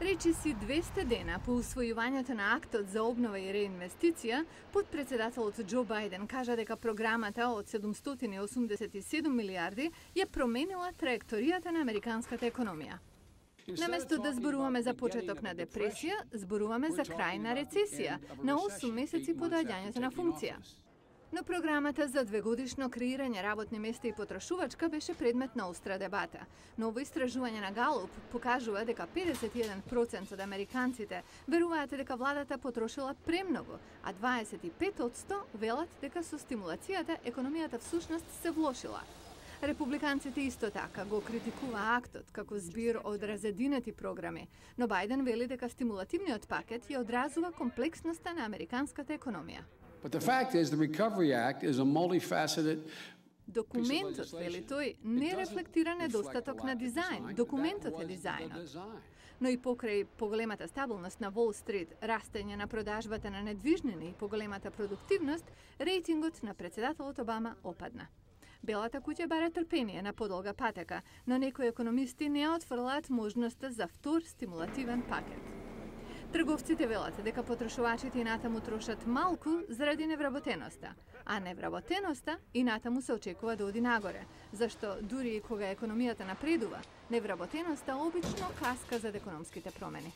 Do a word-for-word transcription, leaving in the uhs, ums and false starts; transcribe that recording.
Речиси двесте дена по усвојувањето на актот за обнова и реинвестиција, подпредседателот Џо Бајден кажа дека програмата од седумстотини и осумдесет и седум милијарди ја променила траекторијата на американската економија. Наместо да зборуваме за почеток на депресија, зборуваме за крај на рецесија, на осум месеци по доаѓањето на функција. Но програмата за двегодишно креирање работни места и потрошувачка беше предмет на остра дебата. Ново истражување на Галуп покажува дека педесет и еден проценти од американците веруваат дека владата потрошила премногу, а дваесет и пет одсто велат дека со стимулацијата економијата всушност се влошила. Републиканците исто така го критикува актот како збир од разединети програми, но Бајден вели дека стимулативниот пакет ја одразува комплексноста на американската економија. But the fact is, the Recovery Act is a multifaceted. Документот, вели тој, не рефлектира недостаток на дизајн. Документот е дизајнот. Но и покрај поголемата стабилност на Wall Street, растење на продажбата на недвижнини и поголемата продуктивност, рейтингот на председателот Обама опадна. Белата куќа бара трпение на подолга патека, но некои економисти не отфрлаат можноста за втор стимулативен пакет. Трговците велат дека потрошувачите и натаму трошат малку заради невработеноста, а невработеноста и натаму се очекува да оди нагоре, зашто дури и кога економијата напредува, невработеноста обично каска зад економските промени.